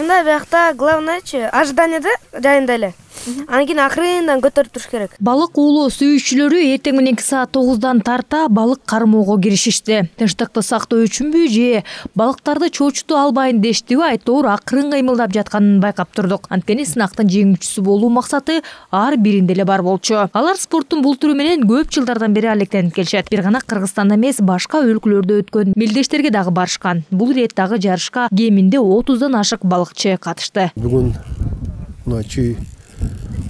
башында биякта главныйчы ожиданиеда жайында эле. Анан кийин акырындан көтөрүп туруш керек. Балык уулоо сүйүүчүлөрү эртең мененки саат 9-дан тарта балык кармоого киришишти. Тынчтыкты сактоо үчүнбү же балыктарды чоочуту албайын дештиби айтор акырын кыймылдап жатканын байкап турдук. Анткени сынактын жеңүүчүсү болуу максаты ар биринде эле бар болчу. Алар спорттун бул түрү менен көп жылдардан бери алектенип келишет. Бир гана Кыргызстанда эмес, башка өлкөлөрдө өткөн мелдештерге дагы барышкан. Бул ирет дагы жарышка кеминде 30дан ашык балыкчы катышты. Бүгүн Чүй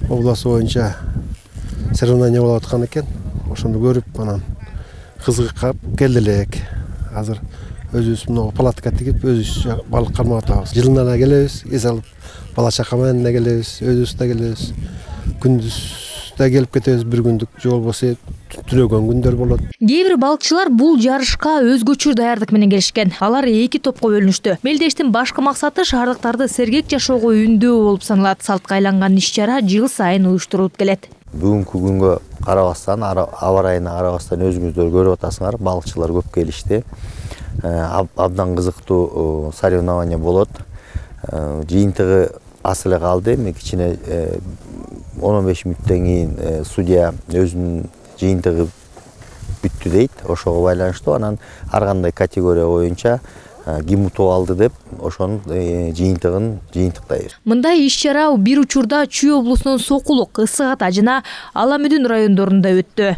обласы боюнча соревнование болуп аткан экен. Ошону көрүп, анан кызыгып келди элек. Азыр өзүбүз мына палатка тигип, өзүбүз балык кармап атабыз. Жылына да келебиз, эс алып, бала чака менен да келебиз, өзүбүз да келебиз. Күндүз да келип кетебиз, бир күндүк, же болбосо түнөгөн күндөр болот. Кээ бир балыкчылар бул жарышка өзгөчө даярдык менен келишкен. Алар 2 топко бөлүнүштү. Мелдештин башкы максаты шаардыктарды сергек жашоого үндөө болуп саналат. Салтка айланган иш-чара жыл сайын уюштурулуп келет. Бүгүнкү күнгө карабастан, аба ырайына карабастан өзүңүздөр көрүп атасыңар, балыкчылар көп келишти. Абдан кызыктуу соревнование болот. Жыйынтыгы аз эле калды. Кичине 15 мүнөттөн кийин судья өзүнүн жыйынтыгы бүттү дейт. Ошого байланыштуу анан ар кандай категория боюнча ким утуп алды деп ошонун жыйынтыгын жыйынтыктайбыз. Мындай иш-чара бир учурда Чүй облусунун Сокулук, Ысык Ата жана Ала Мүдүн райондорунда өттү.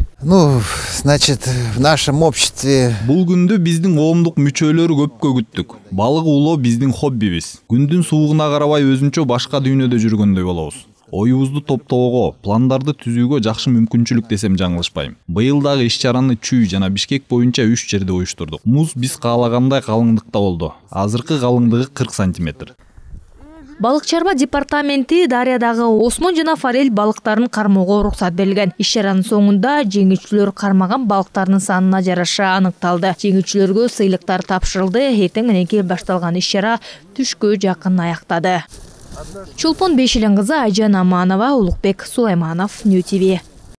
Значит, в нашем обществе бул күндү биздин коомдук мүчөлөрү көпкө күттүк. Балык уулоо биздин хоббибиз. Күндүн суугуна карабай өзүнчө башка дүйнөдө жүргөндөй болобуз. Оюбузду топтоого, пландарды түзүүгө жакшы мүмкүнчүлүк десем жаңылышпайм. Быйыл дагы иш-чараны Чүй жана Бишкек боюнча 3 жерде уюштурдук. Муз биз каалагандай калыңдыкта болду. Азыркы калыңдыгы 40 сантиметр. Балык чарба департаменти дарыядагы осмон жана форель балыктарын кармоого уруксат берилген. Иш-чаранын соңунда жеңүүчүлөр кармаган балыктардын санына жараша аныкталды. Жеңүүчүлөргө сыйлыктар тапшырылды. Эртең мененки башталган иш-чара түшкө жакын аяктады. Чолпон Бешилен кызы Айжан Аманова, Улукбек Сулайманов, Нью ТВ.